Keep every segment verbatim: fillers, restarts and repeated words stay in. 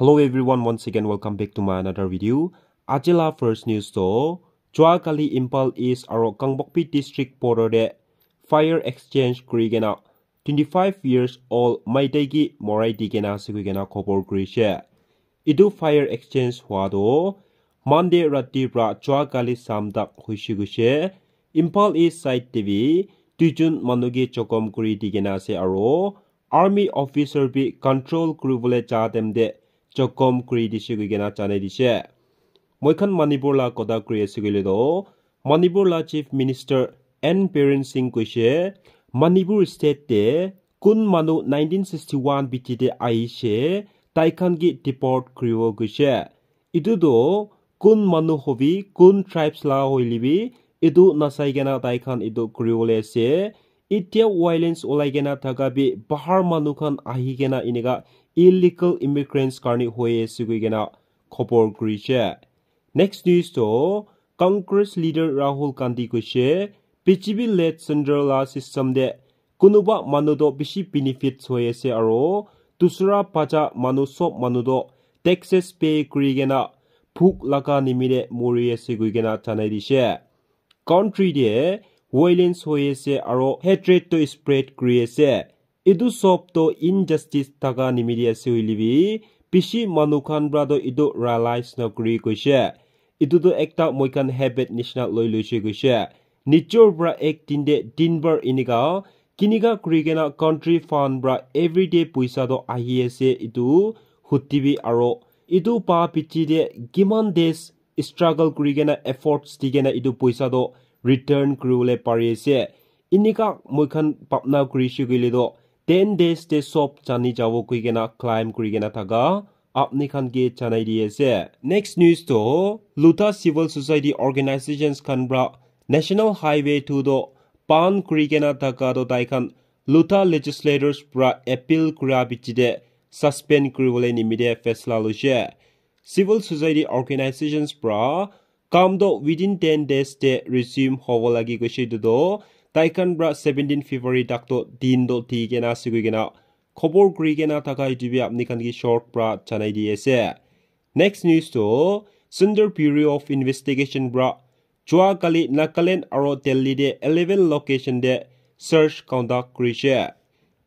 Hello everyone, once again welcome back to my another video. Ajila first news to, Chua Kali Imphal East aro Kangpokpi District border de fire exchange kuri kena twenty-five years old Maitai ki morai di kena ase koi kena khobor kurishe. Etu fire exchange hua to Monday rati pra Chua Kali Sam tak huishe kuishe. Imphal East side te bi duijun manu ke jokhom kuri di kena ase aro army officer bi control kuribole ja time te jokhom kuri dishe koi kena janai dishe. Moi khan Manipur la kotha kuri ase koile to, Manipur la Chief Minister N Biren Singh koishe, Manipur state te kun manu nineteen sixty-one B T te ahishe, tai khan ke deport kuribo koishe. Etu to kun manu hobi, kun tribes la hoile bi, etu nasai kena tai khan etu kuribole ase. Itya violence ulai kena thaka bi bahar manu khan ahi kena eneka illegal immigrants karni hoi ase koi kena khobor kurishe. Next news to Congress leader Rahul Gandhi koishe, B J P led central la system de kunuba manu to bishi benefits hoi ase aro dusra bacha manu sob manu to taxes pay kuri kena bhuk laga nimite mori ase koi kena janai dishe. Country de violence hoi ase aro hatred to spread kuri ase. Etu sob to injustice thaka nimite ase hoile bi bishi manu khan pra to etu realize na kuri koishe. Etu to ekta moi khan habit nishina loi loishe koishe. Nijor pra ek din de din bhar enika kinika kuri kena country fund pra everyday poisa to ahi ase etu huti bi aro etu pa piche de kiman days struggle kuri kena efforts di kena etu poisa to return kuribole pari ase. Enika moi khan bhabna kurishe koile to ten days te sob jani jabo koi kena claim kuri kena thaka apni khan ke janai di ase. Next news to Lotha civil society organizations khan pra National Highway two to ban kuri kena thaka to tai khan Lotha legislators pra appeal kura piche de suspend kuribole nimite faisla loishe. Civil society organizations pra kam to within ten days te resume hobo lagi koishe etu to tai khan pra seventeen February tak to din to di kena ase koi kena khobor kuri kena thaka etu bi apni khan ke short pra janai di ase. Next news to Central Bureau of Investigation pra Chua Kali Nagaland aro Delhi de eleven location de search conduct kurishe.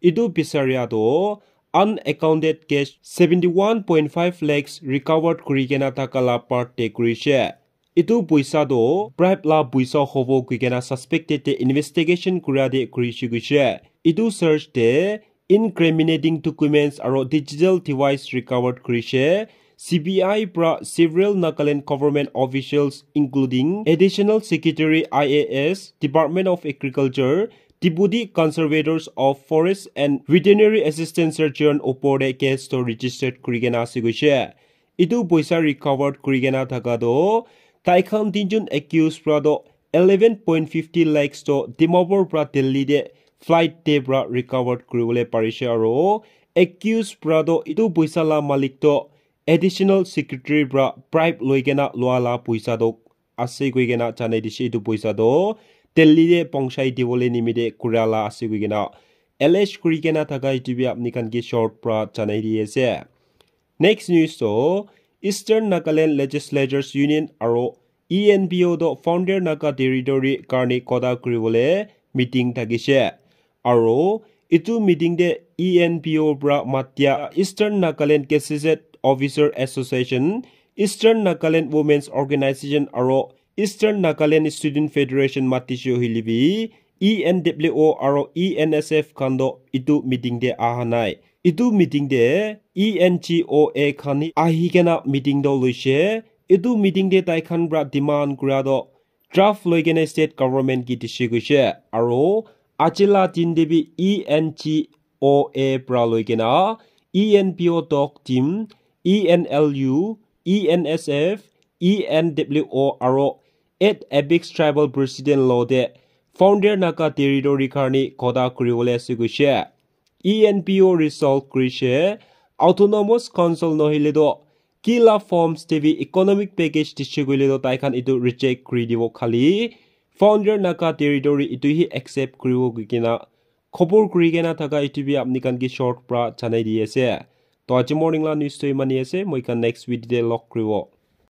Etu bisaria to unaccounted cash seventy-one point five lakhs recovered kuri kena thaka la part te kurishe. Etu poisa to bribe la poisa hobo koi kena suspected te investigation kura de kurishe koishe. Etu search te incriminating documents aro digital device recovered kurishe. C B I pra several Nagaland government officials including Additional Secretary I A S, Department of Agriculture, Deputy Conservators of Forest and Veterinary Assistant Surgeon opor de case to registered kuri kena ase koishe. Etu poisa recovered kuri kena thaka to tai khan tinjun accused pra to eleven point fifty lakhs to Dimapur pra Delhi de flight te pra recovered kuribole parishe aro accused pra to etu poisa la malik to additional secretary pra bribe loi kena lua la poisa to ase koi kena janai dishe. Etu poisa to Delhi de pongchai dibole nimite kura la ase koi kena allege kuri kena thaka etu bi apni khan ke short pra janai di ase. Next news to Eastern Nagaland Legislators Union aro E N P O to Founder Naga Territory karni kotha kuribole meeting thakishe. Aro etu meeting de E N P O pra matia Eastern Nagaland Gazetted Officer Association, Eastern Nagaland Women's Organization aro Eastern Nagaland Student Federation matishe hoile bi E N W O aro E N S F khan to etu meeting de aha nai. Etu meeting de E N G O A khan hi ahi kena meeting to loishe. Etu meeting de tai khan pra demand kura to draft loi kena state government ke dishe koishe. Aro aji la din de bi E N G O A pra loi kena E N P O talk team, E N L U, E N S F, E N W O aro eight Apex Tribal President lo de Founder Naga Territory karni kotha kuribole ase koishe. E N P O resolve kurishe, Autonomous Council nohile to kila forms te bi economic package dishe koile to tai khan etu reject kuri dibo, khali Founder Naga Territory etu hi accept kuribo koi kena khobor kuri kena thaka etu bi apni khan ke short pra janai di ase. To aji morning la news to imani ase, moi khan next video te log kuribo.